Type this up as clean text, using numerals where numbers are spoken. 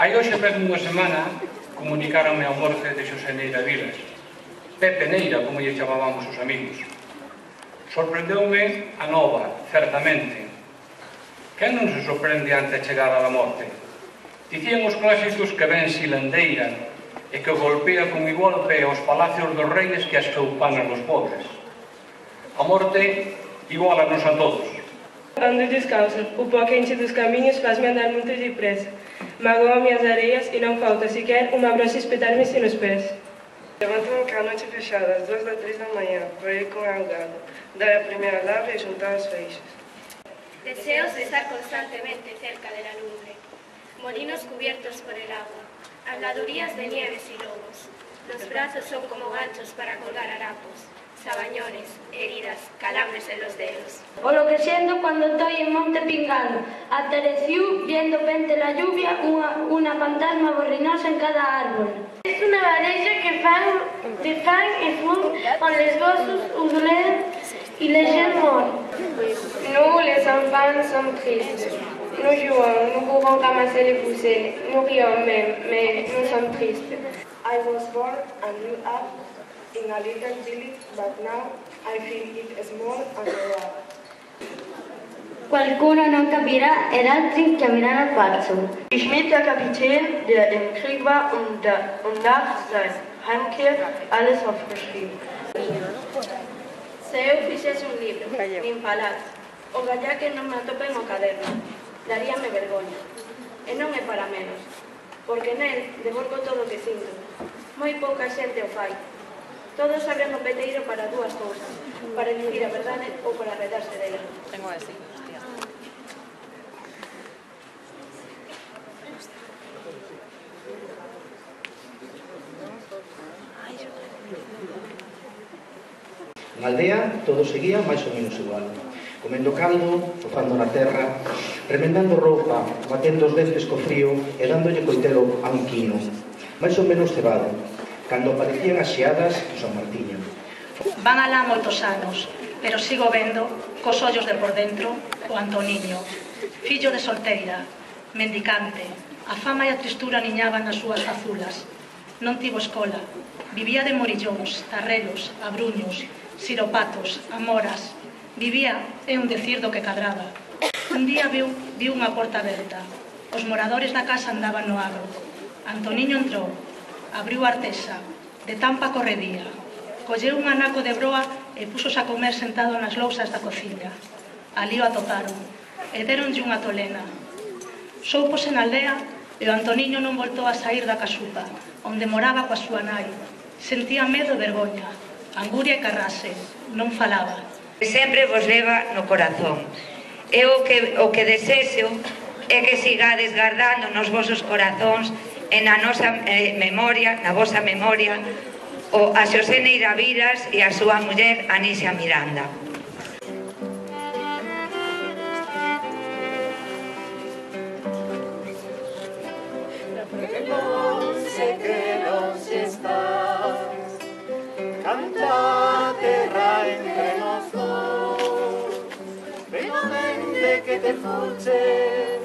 Hai hoxe mesmo unha semana comunicaronme a morte de Xosé Neira Vilas, Pepe Neira, como lle chamábamos os amigos. Sorprendeume a nova, certamente. Quen non se sorprende ante a chegada da morte? Dicían os clásicos que ven silandeira e que golpea con igual pé aos palacios dos reis que as choupanas dos pobres. A morte igualanos a todos. Ando descalça, o pó quente dos caminhos faz-me andar muito depressa. Magoa-me as areias e não falta sequer uma brocha espetar-me nos pés. Levanto-me com a noite fechada, às 2 ou 3 da manhã, por ir com a gado, dar a primeira lavra e juntar as feixes. Deseos de estar constantemente cerca de la lumbre, molinos cubiertos por el agua, habladurías de nieves y lobos. Los brazos son como ganchos para colgar harapos, sabañones, heridas, calambres en los dedos. O lo que siento cuando estoy en Monte Pingado, atareciu viendo pente la lluvia una fantasma borrinosa en cada árbol. Es una barreja que fan y fum con les gossos udoler y les gens morts. Nous, les enfants, sommes tristes. Nous jouons, nous pouvons ramasser les poussées, nous rions même, mais nous sommes tristes. I was born and grew up in a little village, but now I feel it small and rural. Qualcuno non capirà ed altri chiameranno pazzo. Ich mit der Kapitän, der im Krieg war und nach seiner Heimkehr alles aufgeschrieben. Se eu fixese un libro, nin falar, o gallá que non me atopen o caderno, daríame vergoña. E non é para menos, porque nel devolvo todo o que sinto. Moi pouca xente o fai. Todos abren o peteiro para dúas cousas, para dicir a verdade ou para redarse dela. Tengo así, hostia. Na aldea todo seguía máis ou menos igual. Comendo caldo, fofando na terra, remendando roupa, batendo os dentes co frío e dándolle coitelo a un quino, máis ou menos cebado, cando aparecían as xeadas de San Martiño. Van alá moitos anos, pero sigo vendo, cos ollos de por dentro, o Antoniño, fillo de solteira, mendicante. A fama e a tristura niñaban nas súas fazulas. Non tivo escola, vivía de morillóns, tarrelos, abruños, siropatos, amoras. Vivía, é un decir do que cadraba. Un día viu unha porta aberta. Os moradores da casa andaban no agro. Antoniño entrou, abriu a artesa, de tampa corredía. Colleu un anaco de broa e puxos a comer sentado nas lousas da cociña. Ali o atoparon, e deronlle unha tolena. Soupose na aldea e o Antoniño non voltou a saír da casupa, onde moraba coa súa nai. Sentía medo e vergoña, anguria e carrase, non falaba. Sempre vos leva no corazón. E o que desexo é que sigades guardando nos vosos corazóns e na nosa memoria, na vosa memoria, a Xosé Neira Vilas e a súa muller Anisia Miranda. Sé que los estás, canta terra entre los dos, ven a mente que te escuche.